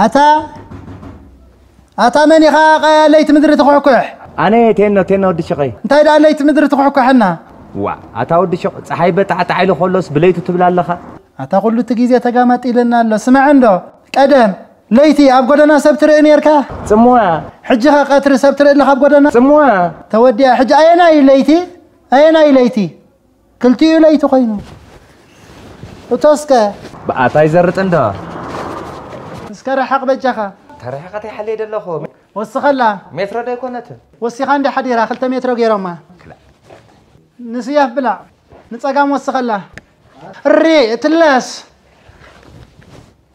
ኣታ ኣታ መን ኢኻ ቀያ ለይቲ ምድሪ ትኹሕኩሕ? ኣነ ቴኖ ቴኖ ወዲ ሽቐይ። እንታይ ደኣ ለይቲ ምድሪ ትኹሕኩሐና? ዋ ኣታ ወዲ ሽቕ፣ ፀሓይ በጣዕጣዕ ኢሉ ከሎስ ብለይቱ ትብል ኣለኻ? ኣታ ኩሉ እቲ ግዜ ተጋማጢልና ኣሎ። ስማዕ እንዶ፣ ቀደም ለይቲ ኣብ ጎደና ሰብ ትርኢ ነርካ? ጽምዋ። ሕጂ ኸ ቀትሪ ሰብ ትርኢ ኣለኻ ኣብ ጎደና? ጽምዋ። ተወዲኣ። ሕጂ ኣየናይ ለይቲ? ኣየናይ ለይቲ? ክልቲኡ ለይቲ ኮይኑ። እቶስከ? ብኣታይ ዘርጥ እንዶ? እስከ ረሓቕ በጃኻ። ተረሓቐት ይሓለይ ደለኹ። ወስኸላ። ሜትሮ ዶ ኣይኮነትን? ወሲኻ እንዲ ሓዲራ፣ ክልተ ሜትሮ ገይሮማ። ክላ። ንስያፍ ብላዕ። ንጸጋም ወስኸላ። እሪ፣ እትለስ።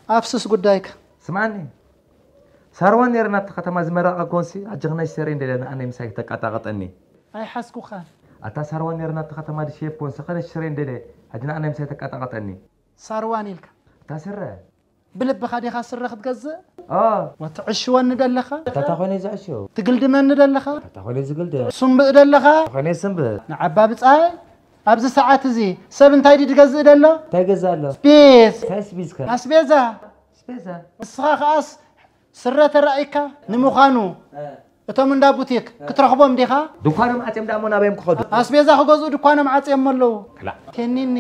ኣፍስስ ጉዳይካ። ስማኒ። ሳርዋን ነይረ ናብቲ ከተማ ዝመረቐ ኮንሲ፣ ኣጀኽናይ ሰሬ እንደለ ንኣነይ ምሳይ ተቃጣቀጠኒ። ኣይሓዝኩኻን። ኣታ ሳርዋን ነይረ ናብቲ ከተማ ድሸየፍ ኮንሲ፣ ኸነሽ ሰሬ እንደለ፣ ሕጂ ንኣነይ ምሳይ ተቃጣቀጠኒ። ሳርዋን ኢልካ። ኣታ ስረ። ብልብኻ ዲኻ ስረ ክትገዝእ? ኦ። ወትዕሽወኒ ደለኻ? ኣታ ኮይነ ዝዕሽው። ትግልድመኒ ደለኻ? ኣታ ኮይነ ዝግልደ። ሱምብእ ደለኻ? ኮይነ ስምብእ። ንዓባ ብጻይ፣ ኣብዚ ሰዓት እዚ ሰብ እንታይ ድዩ ዝገዝእ ደሎ? እንታይ ገዝእ ኣሎ? ስፔስ። እንታይ ስፒዝከ? ኣስቤዛ። ኣስቤዛ። ንስኻ ከኣስ ስረ ተራእይካ ንምዃኑ እ። እቶም እንዳ ቡቲክ እ። ክትረኽቦም ዲኻ? ድኳኖም ዓጽዮም ደኣ እሞ ናበዮም ክኸዱ? ኣስቤዛ ክገዝኡ ድኳኖም ዓጽዮም ኣለዉ። ክላእ። ቴኒኒ፣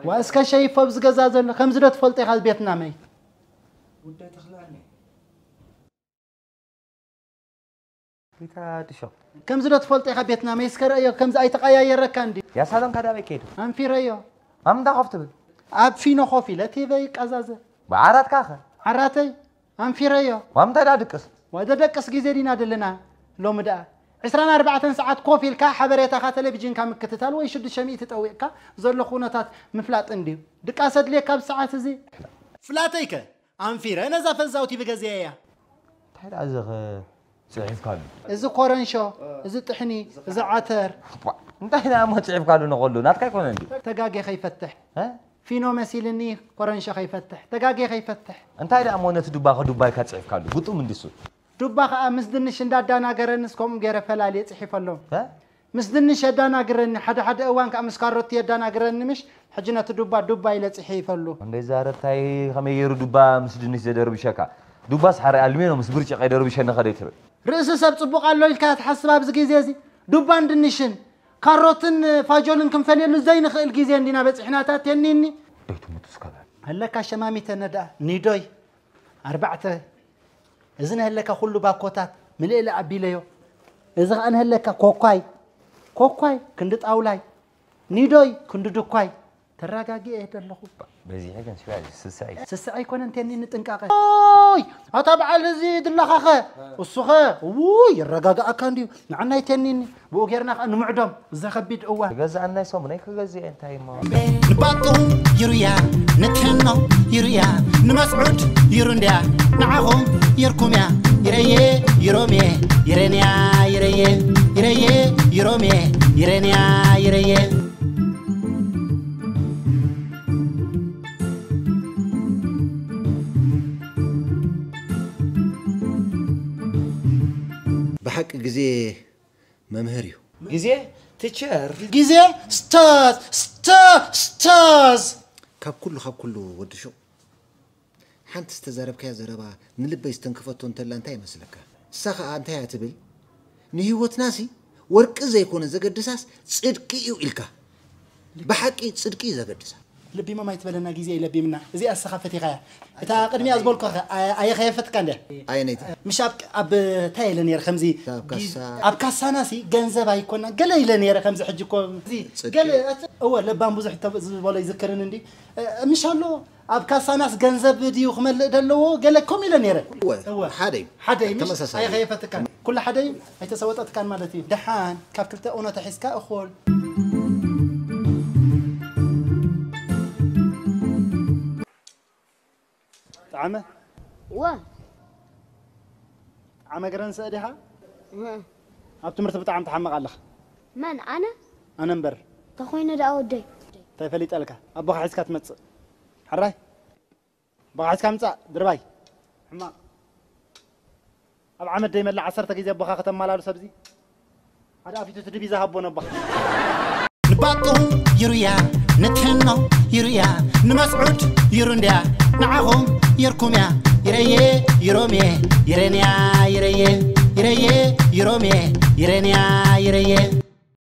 ዋ እስከ ሸይፎ ኣብዚ ገዛ ዘሎ፣ ከምዚ ዶ ትፈልጦ ኢኻ ቤትና መይ? ጉዳይ ተኽላኒ። ጌታ ድሾ። ከምዚ ዶ ትፈልጦ ኢኻ ቤትና መይ እስከ ረእዮ፣ ከምዚ ኣይተቐያየረካ እንዲ። ያ ሳሎን ካዳበይ ከይዱ? ኣንፊረዮ። ኣም እንዳ ኮፍ ትብል? ኣብ ፊኖ ኮፍ ኢለ ቲቨይ ይቀዛዘ። ብዓራትካ ኸ? ዓራተይ ኣንፊረዮ። ዋም እንታይ ደኣ ድቅስ? ወደ ደቅስ ግዜ ዲና ደለና ሎሚ ደኣ። ዕስራን ኣርባዕተን ሰዓት ኮፍ ኢልካ ሓበሬታኻ ቴሌቪዥንካ ምክትታል ወይ ሽዱሽተ ሚእቲ ጠዊቕካ ዘሎ ኩነታት ምፍላጥ እንድዩ። ድቃስ ኣድልየካ ኣብዚ ሰዓት እዚ? ፍላተይከ ኣንፊረ ነዛ ፈዛው ቲቪ ገዚኤያ። እንታይ ደኣ እዚ ኸ ጽሒፍካሉ? እዚ ኮረንሾ፣ እዚ ጥሕኒ፣ እዚ ዓተር። ቧ፣ እንታይ ደኣ እሞ ጽሒፍካሉ ንኸሉ? ናትካ ኣይኮነን ድዩ? ተጋጌ ከይፈትሕ። እ? ፊኖ መሲልኒ ኮረንሾ ከይፈትሕ፣ ተጋጌ ከይፈትሕ። እንታይ ደኣ እሞ ነቲ ዱባ ከዱባ ኢልካ ጽሒፍካሉ? ግጡም እንድሱ። ዱባ ኸኣ ምስ ድንሽ እንዳዳናገረንስ ከምኡ ገይረ ፈላልየ ጽሒፈሎም። እ? ምስ ድንሽ የዳናግረኒ፣ ሓደ ሓደ እዋን ከኣ ምስ ካሮቲ የዳናግረኒ ምሽ፣ ሕጂ ነቲ ዱባ ዱባ ኢለ ጽሒፈሉ። እንደ ዛረብታይ ከመይ ገይሩ ዱባ ምስ ድንሽ ዘደርብሸካ? ዱባስ ሓረ ኣልሜኖ ምስ ብርጭቕ የደርብሸኒ ኸደ ትብል። ርእሲ ሰብ ጽቡቕ ኣሎ ኢልካ ትሓስብ ኣብዚ ግዜ እዚ? ዱባን ድንሽን፣ ካሮትን ፋጆልን ክንፈልየሉ ዘይንኽእል ግዜ እንዲና በጺሕና፣ እታ ቴኒኒ። ደይ ትሙት እስከ በል። ኣለካ ሸማሚተ ነዳ፣ ኒዶይ፣ ኣርባዕተ። እዚ ነህለካ ኩሉ ባኮታት ምልእለ ኣቢለዮ። እዚ ኸኣ ነህለካ ኮኳይ፣ ኮኳይ ክንዲ ጣውላይ፣ ኒዶይ ክንዲ ድኳይ። ተረጋጊኤ እየ ዘለኹ። በዚሐ ግን ሽባ ስስዐ እዩ። ስስዐ ኣይኮነን ቴኒ ንጥንቃቐ። ኦይ! ኣታ በዓል እዚ ድላኻኸ? እሱኸ? ውይ! ይረጋግኣካ እንድዩ። ንዓናይ ቴኒኒ። ብኡ ጌርና ኸኣ ንምዕዶም። እዛ ኸቢድ እዋን። ክገዝኣናይ ሰሙነይ ክገዝእ እየ እንታይ እሞ። ንባጡ ይሩያ፣ ንትሕኖ ይሩያ፣ ንመስዑድ ይሩ እንድያ፣ ንዓኹም ይርኩም እያ። ይረየ፣ ይሮም እየ፣ ይረንያ፣ ይረየ፣ ይረየ፣ ይሮም እየ፣ ይረንያ፣ ይረየ። ብሓቂ ግዜ መምህር እዩ። ግዜ ቲቸር። ግዜ ስታዝ፣ ስታ-፣ ስታዝ። ካብ ኩሉ፣ ካብ ኩሉ ወዲ ሹቕ ሓንቲ ዝተዛረብካያ ዘረባ ንልበይ ዝተንከፈቶ እንተላ እንታይ ይመስለካ? እሳ ኸኣ እንታይ እያ ትብል? ንህይወትናሲ ወርቂ ዘይኮነ ዘገድሳስ ጽድቂ እዩ ኢልካ። ብሓቂ ጽድቂ እዩ ዘገድሳ። ለቢሞም ኣይትበለና፣ ግዜ እዩ ለቢምና። እዚኣ እስኻ ፈቲኻያ። እታ ቅድሚኣ ዝበልኩኻ ኣየ-፣ ኣየ ከየፈትካ እንድያ። ኣየነይቲ? ምሽ ኣብ፣ ኣብ እንታይ ኢለ ነይረ ከምዚ ኣብ ካሳ። ኣብ ካሳናሲ ገንዘብ ኣይኮና ገለ ኢለ ነይረ ከምዚ ሕጂ እኮ እዚ ጽድቂ። ገለ እት-፣ እወ ለባም ብዙሕ ተብ-፣ ዝበሎ ይዝክርን እንዲ። እ፣ ምሽ ኣሎ ኣብ ካሳናስ ገንዘብ ድዩ ክመልእ ደለዎ? ገለ ከምኡ ኢለ ነይረ። እወ፣ እወ። ሓደ እዩ። ሓደ እዩ፣ ምሽ ተመሳሳሊ። ኣየ ከየፈትካን። ኩሉ ሓደ እዩ፣ ኣይተሰወጠትካን ማለት እዩ። ደሓን፣ ካብ ክልተ እውነታ ሒዝካ እኹል። ጠዓመ? እወ። ጠዓመ ገረንሰ ዲኻ? እህ። ኣብ ትምህርቲ ብጣዕሚ ትሓምቕ ኣለኻ። መን፣ ኣነ? ኣነ እምበር። ተኾይነ ደኣ ወደይ። እንታይ ፈሊጠልካ? ኣቦኻ ሒዝካ ትመጽእ። ሕራይ? ኣቦኻ ሒዝካ ምጻእ፣ ድርባይ። ሕማቕ። ኣብ ዓመት ደይመልእ ዓሰርተ ግዜ ኣቦኻ ከተማላልሶ ኣብዚ? ሓደ ኣፊቱ እቲ ድቪዛ ሃቦ ነቦኻ። ንባጡ ይሩያ፣ ንትሕኖ ይሩያ፣ ንመስዑድ ይሩ እንድያ፣ ንዓኹም ይርኩም እያ። ይረየ፣ ይሮሜ ይረንያ ይረየ ይረየ ይሮሜ ይረንያ ይረየ